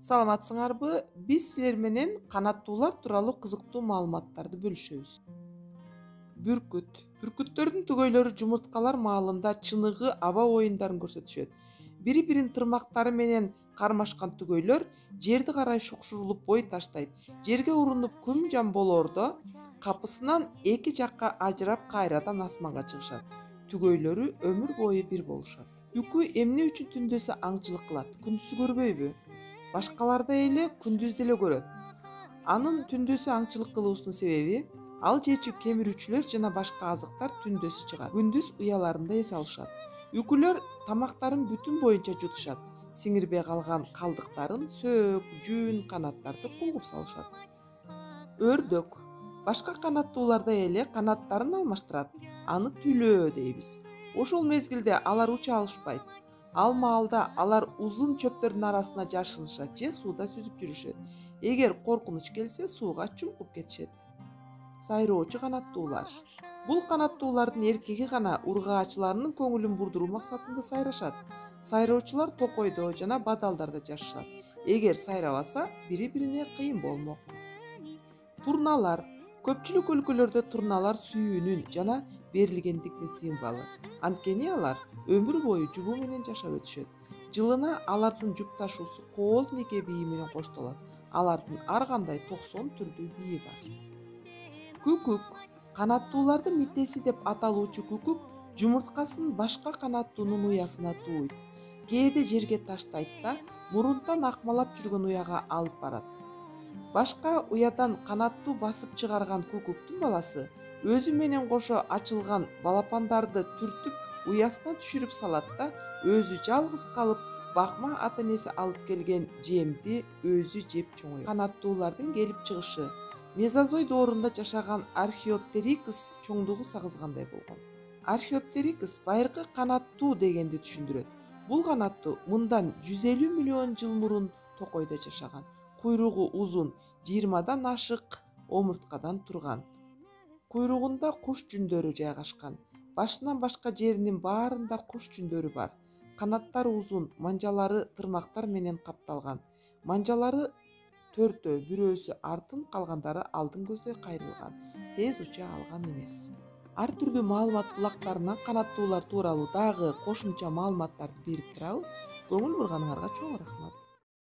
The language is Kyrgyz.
Саламатсыңарбы? Биз силер менен канаттуулар тууралуу кызыктуу маалыматтарды бөлүшөбүз. Бүркүттөрдүн түгөйлөрү жумурткалар маалында чыныгы аба оюндарын көрсөтүшөт. Бири-бирин тырмактары менен кармашкан түгөйлөр жерди карай шукшурулуп бой таштайт. Жерге урунуп күн жам болоордо капысынан эки жакка ажырап кайрадан асманга чыгышат. Түгөйлөрү өмүр бою бир болушат. Үкү эмне үчүн түндөсү аңчылык кылат? Күндүзү көрбөйбү? Башкалардай эле күндүз деле көрөт. Анын түндөсү аңчылык кылуусунун себеби ал жечү кемирүүчүлөр жана башка азыктар түндөсү чыгат. Күндүз уяларында эс алышат. Үкүлөр тамактарын бүтүн боюнча жутушат. Сиңирбей калган калдыктарын сөөк, жүн, канаттарды кулгуп салышат. Өрдөк башка канаттуулардай эле канаттарын алмаштырат. Аны түлөө дейбиз. Ошол мезгилде алар уча алышпайт. Ал маалда алар узун чөптөрдүн арасына жашынышат же сууда сүзүп жүрүшөт. Эгер коркунуч келсе, сууга чумкуп кетишет. Сайроочу канаттуулар. Бул канаттуулардын эркеги гана ургаачыларынын көңүлүн бурдуруу максатында сайрашат. Сайроочулар токойдо жана бадалдарда жашашат. Эгер сайрабаса, бири-бирине кыйын болмок. Турналар. Көпчүлүк өлкөлөрдө турналар сүйүүнүн жана берилгендиктин символу. Анткени алар өмүр бою жугуу менен жашап өтүшөт. Жылына алардын жупташуусу кооз неке бийи менен коштолот. Алардын ар кандай 90 түрдүү бийи бар. Күкүк. Канаттуулардын митеси деп аталуучу күкүк жумурткасын башка канаттуунун уясына тууйт. Кээде жерге таштайт да мурунтан акмалап жүргөн уяга алып барат. Башка уядан канаттуу басып чыгарган күкүктүн баласы өзү менен кошо ачылган балапандарды түртүп уясына түшүрүп салат да өзү жалгыз калып бакма ата-энеси алып келген жемди өзү жеп чоңойот. Канаттуулардын келип чыгышы мезозой доорунда жашаган археоптерикс чоңдугу сагызгандай болгон. Археоптерикс байыркы канаттуу дегенди түшүндүрөт. Бул канаттуу мындан 150 миллион жыл мурун токойдо жашаган. Куйругу узун, 20дан ашык омурткадан турган. Куйругунда куш жүндөрү жайгашкан. Башынан башка жеринин баарында куш жүндөрү бар. Канаттары узун, манжалары тырмактар менен капталган. Манжалары төртөө, бирөөсү артын, калгандары алдын көздөй кайрылган. Тез уча алган эмес. Ар түрдүү маалымат булактарынан канаттуулар тууралуу дагы кошумча маалыматтарды берип турабыз. Көңүл бурганыңарга чоң рахмат.